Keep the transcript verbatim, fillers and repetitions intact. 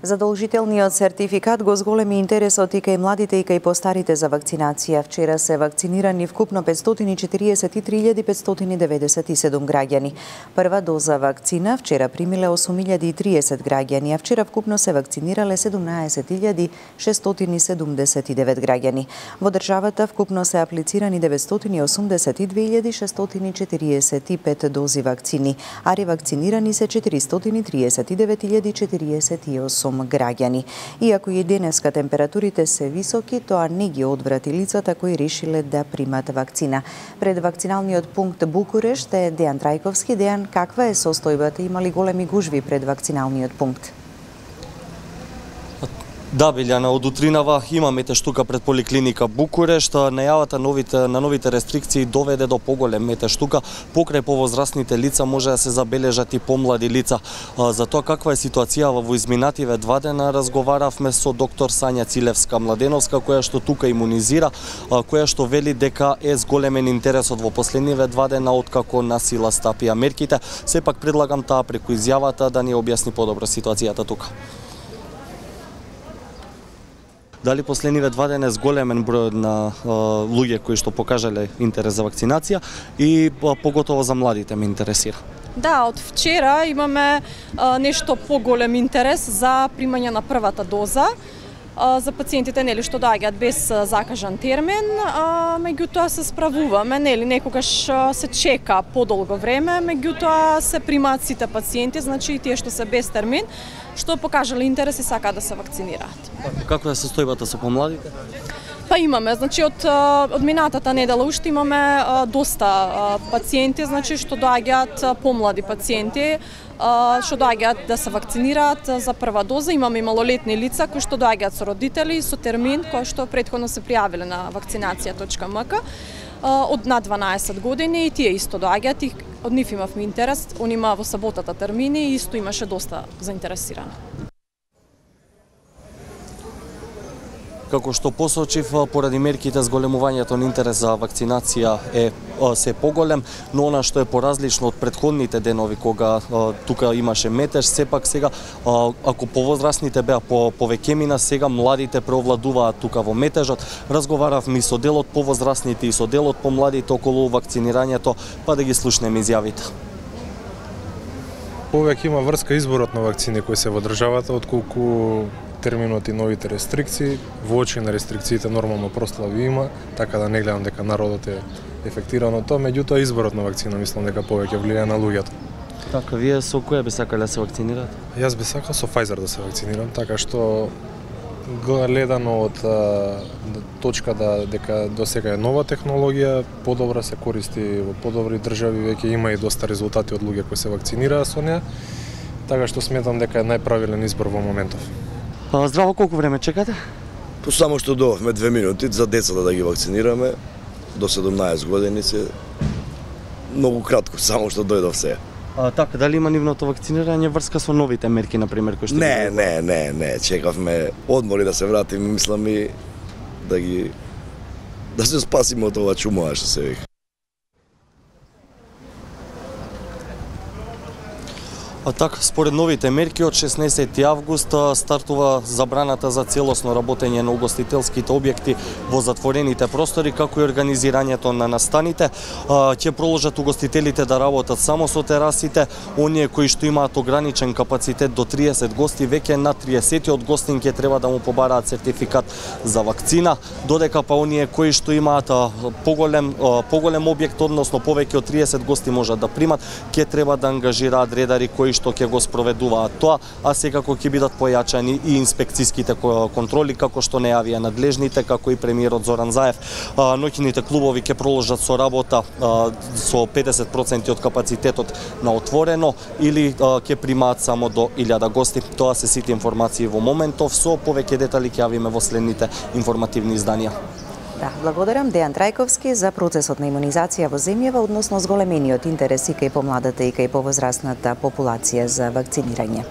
Задолжителниот сертификат го зголеми интересот и кај младите и кај постарите за вакцинација. Вчера се вакцинирани вкупно петстотини и четириесет и три илјади петстотини и деветдесет и седум граѓани. Прва доза вакцина вчера примиле осум илјади и триесет граѓани, а вчера вкупно се вакцинирале седумнаесет илјади шестстотини седумдесет и девет граѓани. Во државата вкупно се аплицирани деветстотини и осумдесет и две илјади шестстотини и четириесет и пет дози вакцини, а ревакцинирани се четиристотини и триесет и девет илјади четириесет и осум граѓани. Иако и денеска температурите се високи, тоа не ги одврати лицата кои решиле да примат вакцина. Пред вакциналниот пункт Букурешт е Дејан Трајковски. Дејан, каква е состојбата? Има ли големи гужви пред вакциналниот пункт? Да, Билјана, од утринава има метеж тука пред поликлиника Букурешт. Најавата новите, на новите рестрикции доведе до поголем метеж тука. Покрај повозрасните лица може да се забележат и помлади лица. За тоа каква е ситуацијава во изминативе два дена разговаравме со доктор Сања Цилевска-Младеновска, која што тука имунизира, која што вели дека е зголемен интересот во последниве два дена откако на сила стапија мерките. Сепак предлагам таа преку изјавата да ни објасни подобро ситуацијата тука. Дали последниве два дена е зголемен број на а, луѓе кои што покажале интерес за вакцинација и а, поготово за младите ме интересира? Да, од вчера имаме а, нешто поголем интерес за примање на првата доза. За пациентите нели што доаѓаат без закажан термин, а, меѓутоа се справуваме, нели некогаш се чека подолго време, меѓутоа се примаат сите пациенти, значи и тие што се без термин, што покажале интерес и сакаат да се вакцинираат. Каква е состојбата со помладите? Па имаме, значи од од минатата недела уште имаме а, доста а, пациенти, значи што доаѓаат помлади пациенти, а, што доаѓаат да се вакцинираат за прва доза. Имаме и малолетни лица кои што доаѓаат со родители со термин кој што претходно се пријавиле на вакцинација точка ем ка од над дванаесет години, и тие исто доаѓаат и од нив имавме интерес. Он има во саботата термини и исто имаше доста заинтересирани. Како што посочив, поради мерките зголемувањето на интерес за вакцинација е се поголем, но она што е поразлично од претходните денови кога а, тука имаше метеж, сепак сега а, ако повозрасните беа по повеќе, сега младите преовладуваат тука во метежот. Разговаравме и со дел од повозрасните и со дел од помладите околу вакцинирањето, па да ги слушнеме изјавите. Повеќе има врска изборот на вакцини кои се во државата отколку терминот и новите рестрикции. Во очи на рестрикциите нормално прослави има, така да не гледам дека народот е ефектиран од тоа, меѓутоа изборот на вакцина мислам дека повеќе влијае на луѓето. Така, вие со која би сакале да се вакцинирате? Јас би сакал со Pfizer да се вакцинирам, така што гледано од а, точка да дека досега е нова технологија, подобра се користи во подобри држави, веќе има и доста резултати од луѓе кои се вакцинираа со неа, така што сметам дека е најправилен избор во моментов. А, здраво, колку време чекате? По само што доовме две минути за децата да ги вакцинираме до седумнаесет години се многу кратко, само што дојдов се. А, така, дали има нивното вакцинирање врска со новите мерки, например, кои што Не, ги... не, не, не, чекавме одмори да се вратиме, мислам и да ги да се спасиме од ова чумоа што се вика. А така, според новите мерки од шеснаесети август стартува забраната за целосно работење на угостителските објекти во затворените простори, како и организирањето на настаните. Ќе проложат угостителите да работат само со терасите. Оние кои што имаат ограничен капацитет до триесет гости, веќе на триесетиот гостин ќе треба да му побараат сертификат за вакцина, додека па оние кои што имаат поголем поголем објект, односно повеќе од триесет гости можат да примат, ќе треба да ангажираат редари кои што ќе го спроведуваат тоа, а секако ќе бидат појачани и инспекциските контроли, како што најавија надлежните, како и премиерот Зоран Заев. Ноќните клубови ќе проложат со работа со педесет проценти од капацитетот на отворено или ќе примаат само до илјада гости. Тоа се сите информации во моментов, со повеќе детали ќе јавиме во следните информативни изданија. Да, благодарам Дејан Трајковски за процесот на имунизација во земјава, односно зголемениот интерес и кај помладата и кај повозрасната популација за вакцинирање.